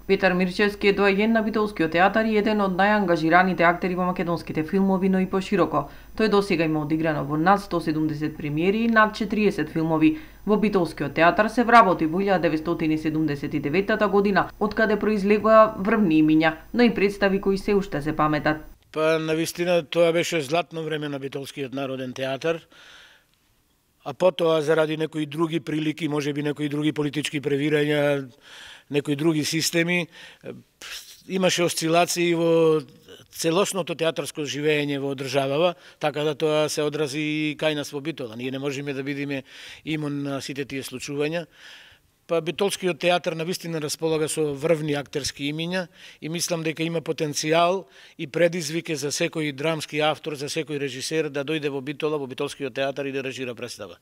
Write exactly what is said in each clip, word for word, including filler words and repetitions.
Петар Мирчевски е доаѓен на битолскиот театар и еден од најангажираните актери во македонските филмови, но и пошироко. Тој досега има одиграно во над сто седумдесет премиери и над четириесет филмови. Во битолскиот театар се вработи во илјада деветстотини седумдесет и девета година, откаде произлегува врвни имиња, но и представи кои се уште се паметат. Па навистина тоа беше златно време на битолскиот народен театар. А потоа заради некои други прилики, можеби некои други политички превирања, некои други системи, имаше осцилации во целосното театарско живење во државава, така да тоа се одрази и кај нас во Битола. Ние не можеме да бидеме имун на сите тие случувања. Па битолскиот театар навистина располага со врвни актерски имиња и мислам дека има потенцијал и предизвик за секој драмски автор, за секој режисер да дојде во Битола, во битолскиот театар и да режира представа.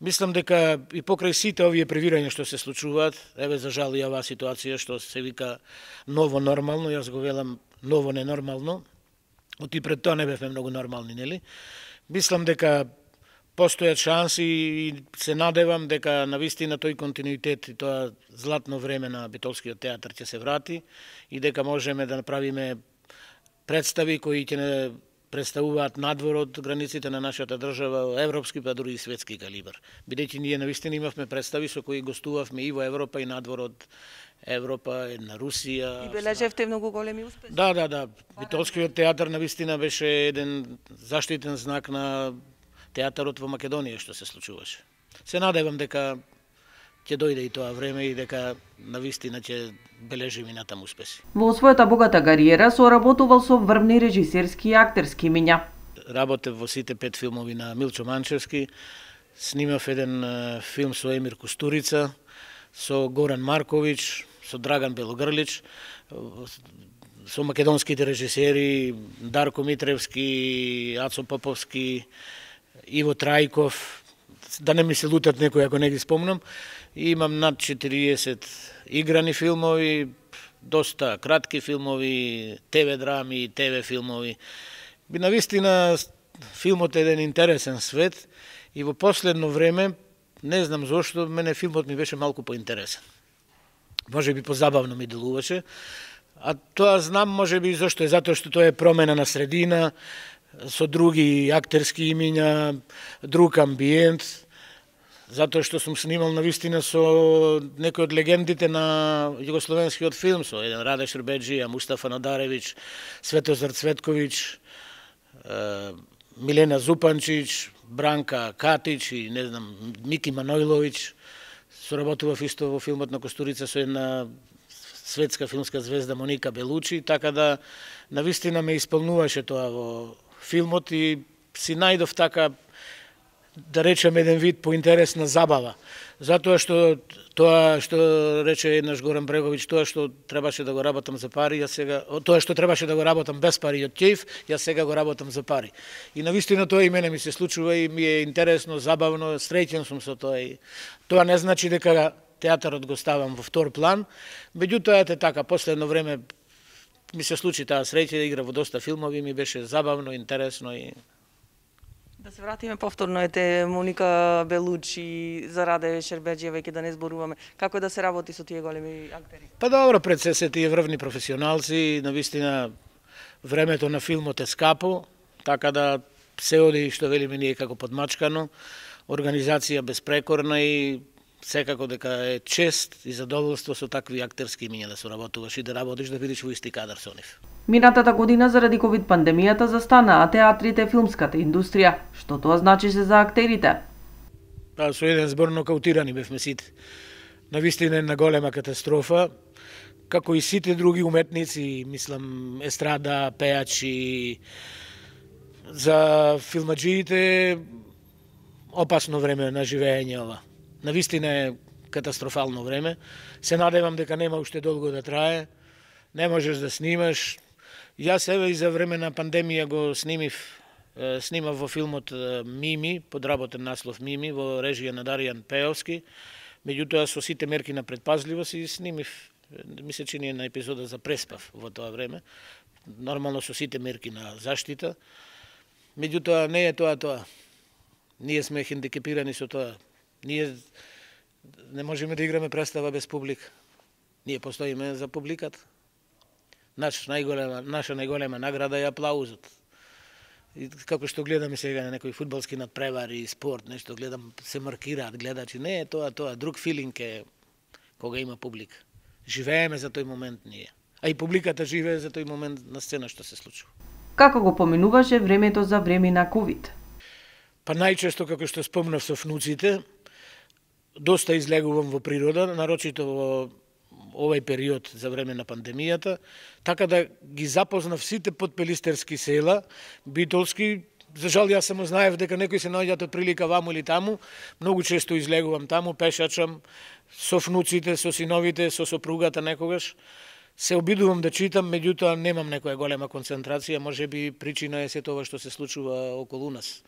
Мислам дека и покрај сите овие превирања што се случуваат, еве за жал и оваа ситуација што се вика ново нормално, јас го велам ново ненормално, оти пред тоа не бевме многу нормални, нели? Мислам дека постојат шанси и се надевам дека навистина тој континуитет и тоа златно време на битолскиот театар ќе се врати и дека можеме да направиме представи кои ќе не представуваат надвор од границите на нашата држава, европски па дури и светски калибар. Бидејќи ние навистина имавме представи со кои гостувавме и во Европа и надвор од Европа, на Русија. И бележевте многу големи успеси. Да, да, да. Битолскиот театар навистина беше еден заштитен знак на театарот во Македонија што се случуваше. Се надевам дека ќе дојде и тоа време и дека навистина ќе бележи и натаму успеси. Во својата богата кариера соработувал со врвни режисерски и актерски имиња. Работев во сите пет филмови на Милчо Манчевски, снимав еден филм со Емир Кустурица, со Горан Марковиќ, со Драган Белогрлич, со македонските режисери Дарко Митревски, Ацо Поповски, Иво Трајков, да не ми се лутат некои ако не ги спомнам. Имам над четириесет играни филмови, доста кратки филмови, те ве драми, те ве филмови. Би навистина филмот е еден интересен свет и во последно време, не знам зошто, мене филмот ми беше малку поинтересен. Може би позабавно ми делуваше, а тоа знам може би зошто е, затоа што тоа е промена на средина, со други актерски имиња, друг амбиент, затоа што сум снимал навистина со некои од легендите на југословенскиот филм, со еден Раде Шербеджија, Мустафа Надаревиќ, Светозар Цветковиќ, Милена Зупанчиќ, Бранка Катич и не знам, Мики Манојловиќ. Соработував исто во филмот на Костурица со една светска филмска звезда Моника Белучи, така да навистина ме исполнуваше тоа во филмот и си најдов така, да речем, еден вид поинтересна забава. Затоа што тоа што рече еднаш Горан Бреговиќ, тоа што требаше да го работам за пари, јас сега, тоа што требаше да го работам без пари од ќејф, јас сега го работам за пари. И навистина тоа и мене ми се случува и ми е интересно, забавно, среќен сум со тоа и тоа не значи дека театарот го ставам во втор план, меѓутоа ете така, последно време ми се случи таа среќа да игра во доста филмови, ми беше забавно, интересно и да се вратиме повторно, ете Моника Белучи, за Раде Шербеджија, веќе да не зборуваме. Како е да се работи со тие големи актери? Па добро, пред се се тие врвни професионалци, навистина времето на филмот е скапо, така да се оди што велиме ние како подмачкано, организација безпрекорна и секако дека е чест и задоволство со такви актерски имиња да соработуваш и да работиш, да бидеш во исти кадар со нив. Минатата година заради ковид пандемијата застанаа театрите, филмската индустрија. Што тоа значише за актерите? Па со еден збор нокаутирани бевме сите. Навистина една голема катастрофа, како и сите други уметници, мислам естрада, пејачи, за филмаџиите опасно време на живење ова. Навистина е катастрофално време. Се надевам дека нема уште долго да трае. Не можеш да снимаш. Јас еве и за време на пандемија го снимив, снимав во филмот Мими, подработен наслов Мими, во режија на Даријан Пеовски. Меѓутоа со сите мерки на предпазливост и снимив, ми се чини една епизода за преспав во тоа време. Нормално со сите мерки на заштита. Меѓутоа не е тоа тоа. Ние сме хендикепирани со тоа. Ние не можеме да играме представа без публика. Ние постоиме за публиката. Наш најголема, наша најголема награда е аплаузот. И како што гледаме сега на некои фудбалски надпревари и спорт, нешто гледам, се маркираат гледачи. Не е тоа, тоа, друг филинг е кога има публика. Живееме за тој момент ние. А и публиката живее за тој момент на сцена што се случува. Како го поминуваше времето за време на ковид? Па најчесто, како што спомнав со внуците, доста излегувам во природа, нарочито во овој период за време на пандемијата, така да ги запознав сите подпелистерски села, битолски. За жал, јас само знаев дека некои се наоѓаат од прилика ваму или таму. Многу често излегувам таму, пешачам со внуците, со синовите, со сопругата некогаш. Се обидувам да читам, меѓутоа немам некоја голема концентрација, може би причина е се тоа што се случува околу нас.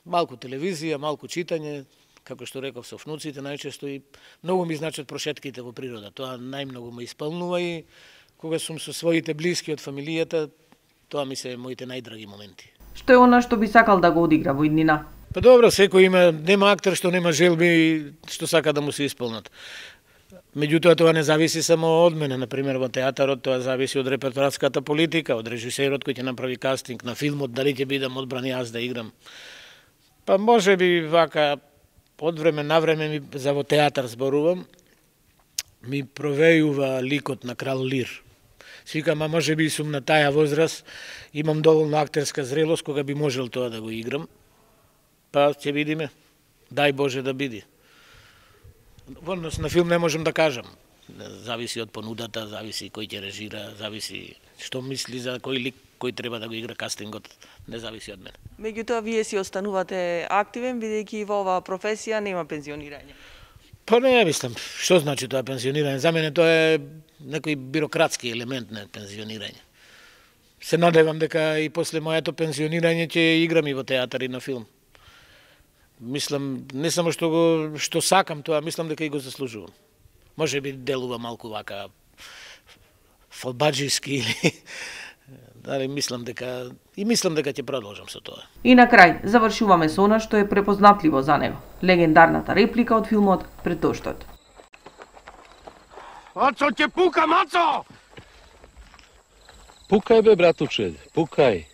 Малку телевизија, малку читање, како што реков, со внуците најчесто, и многу ми значат прошетките во природа. Тоа најмногу ме исполнува, и кога сум со своите блиски од фамилијата, тоа ми се моите најдраги моменти. Што е она што би сакал да го одигра во иднина? Па добро, секој има, нема актер што нема желби што сака да му се исполнат. Меѓутоа тоа не зависи само од мене, например во театарот тоа зависи од репертоарската политика, од режисерот кој ќе направи кастинг на филмот, дали ќе бидам одбран јас да играм. Па може би вака од време на време ми, за во театар зборувам, ми провејува ликот на Крал Лир. Свикам, а може би сум на таја возраст, имам доволно актерска зрелост кога би можел тоа да го играм. Па ќе видиме. Дај Боже да биде. Во однос на филм не можам да кажам. Зависи од понудата, зависи кој ќе режира, зависи што мисли за кој лик кој треба да го игра кастингот, не зависи од мене. Меѓутоа, вие си останувате активен, бидејќи во оваа професија нема пензионирање. Па не, мислам, што значи тоа пензионирање? За мене тоа е некој бирократски елемент на пензионирање. Се надевам дека и после моето пензионирање ќе играм и во театар и на филм. Мислам, не само што го што сакам тоа, мислам дека и го заслужувам. Може би делува малку вака фалбаџиски или дали мислам дека и мислам дека ќе продолжам со тоа. И на крај завршуваме со она што е препознатливо за него. Легендарната реплика од филмот Пред доштот. Мацо ќе пука, Мацо! Пукај бе, братуче, пукај.